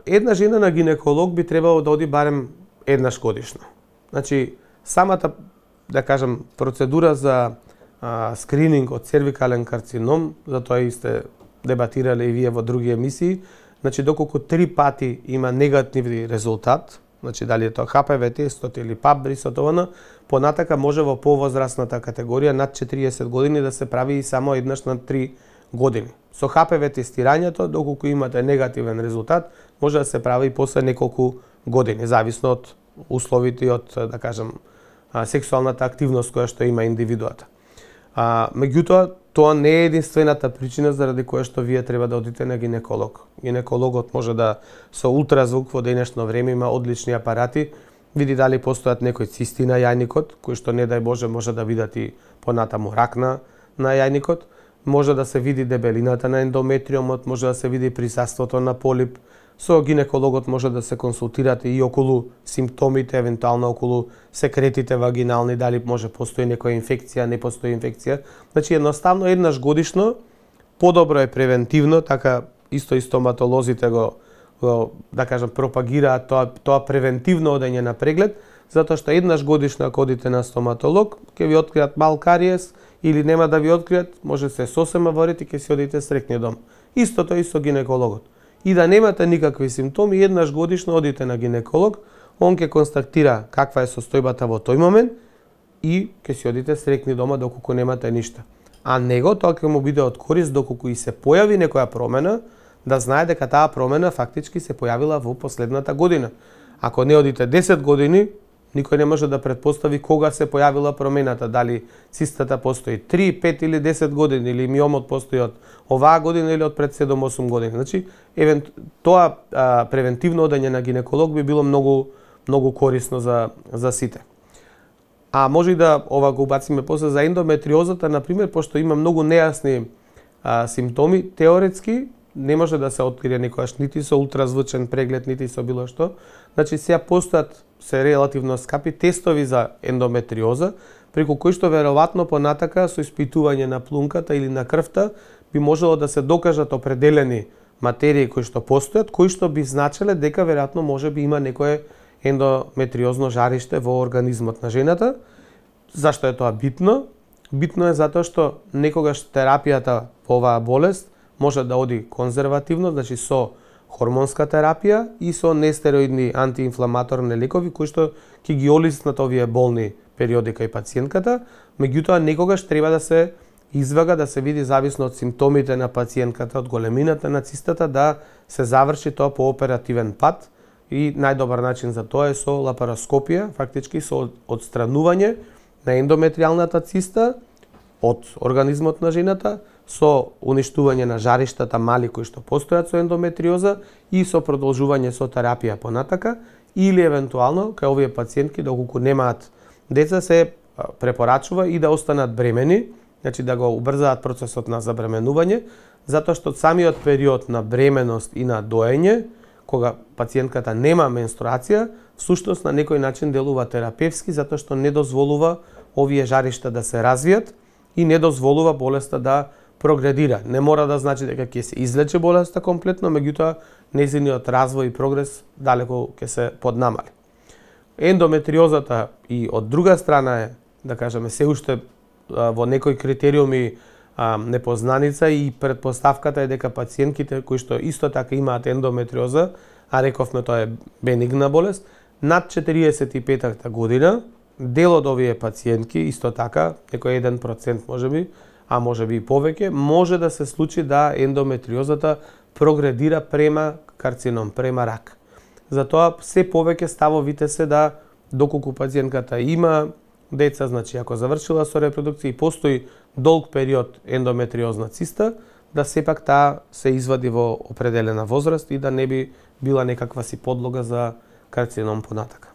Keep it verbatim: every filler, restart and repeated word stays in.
една жена на гинеколог би требало да оди барем еднаш годишно. Значи, самата, да кажам, процедура за а, скрининг од цервикален карцином, за тоа и сте дебатирале и вие во други емисии, значи доколку три пати има негативни резултат, значи дали е тоа Х П В тестот или пап брисот, понатака може во повозрастната категорија над четириесет години да се прави и само еднаш на три години. Со Х П В тестирањето, доколку имате негативен резултат, може да се прави и после неколку години, зависно од условите и од, да кажам, сексуалната активност која што има индивидуата. А, меѓутоа, тоа не е единствената причина заради која што вие треба да одите на гинеколог. Гинекологот може да со ултразвук во денешно време има одлични апарати, види дали постојат некои цисти на јајникот, кои што не дај Боже може да видат и понатаму рак на, на јајникот, може да се види дебелината на ендометриумот, може да се види присуството на полип. Со гинекологот може да се консултирате и околу симптомите, евентуално околу секретите вагинални, дали може постои некоја инфекција, не постои инфекција. Значи, едноставно, еднаш годишно, подобро е превентивно, така исто и стоматолозите го, го да кажам, пропагираат тоа, тоа превентивно одење на преглед, затоа што еднаш годишно, ако одите на стоматолог, ќе ви откријат мал кариес, или нема да ви откријат, може се сосема во ред и ќе си одите среќни дом. Истото и со гинекологот. И да немате никакви симптоми, еднаш годишно одите на гинеколог, он ќе констатира каква е состојбата во тој момент и ќе си одите среќни дома доколку немате ништа. А него тоа ќе му биде од корист доколку и се појави некоја промена, да знае дека таа промена фактички се појавила во последната година. Ако не одите десет години, никој не може да претпостави кога се појавила промената, дали цистата постои три, пет или десет години, или миомот постои од оваа година или од пред седум-осум години. Значи, евент... тоа а, превентивно одење на гинеколог би било многу, многу корисно за, за сите. А може и да ова го убациме после за ендометриозата, например, пошто има многу нејасни а, симптоми, теоретски, не може да се открие никогаш нити со ултразвучен преглед, нити со било што. Значи, сега постојат се релативно скапи тестови за ендометриоза, преку кои што веројатно понатака со испитување на плунката или на крвта би можело да се докажат определени материи кои што постојат, кои што би значеле дека веројатно може би има некое ендометриозно жариште во организмот на жената. Зашто е тоа битно? Битно е затоа што некогаш терапијата по оваа болест може да оди конзервативно, значи со хормонска терапија и со нестероидни антиинфламаторни лекови кои што ќе ги олеснат овие болни периоди кај пациентката, меѓутоа некогаш треба да се извага, да се види зависно од симптомите на пациентката, од големината на цистата, да се заврши тоа по оперативен пат и најдобар начин за тоа е со лапароскопија, фактички со отстранување на ендометриалната циста од организмот на жената, со уништување на жариштата мали кои што постојат со ендометриоза и со продолжување со терапија понатака, или евентуално кај овие пациентки доколку немаат деца се препорачува и да останат бремени, значи да го убрзаат процесот на забременување, затоа што самиот период на бременост и на доење, кога пациентката нема менструација, всушност на некој начин делува терапевски, затоа што не дозволува овие жаришта да се развијат и не дозволува болеста да прогредира. Не мора да значи дека ќе се излече болеста комплетно, меѓутоа нејзиниот развој и прогрес далеко ќе се поднамали. Ендометриозата и од друга страна е, да кажеме, се уште во некои критериуми а, непознаница и предпоставката е дека пациентките кои што исто така имаат ендометриоза, а рековме тоа е бенигна болест, над четириесет и петта година, дел од овие пациентки, исто така, некој еден процент можеби, а може би и повеќе, може да се случи да ендометриозата прогредира према карцином, према рак. Затоа се повеќе ставовите се да доколку пациентката има деца, значи ако завршила со репродукција и постои долг период ендометриозна циста, да сепак таа се извади во определена возраст и да не би била некаква си подлога за карцином понатака.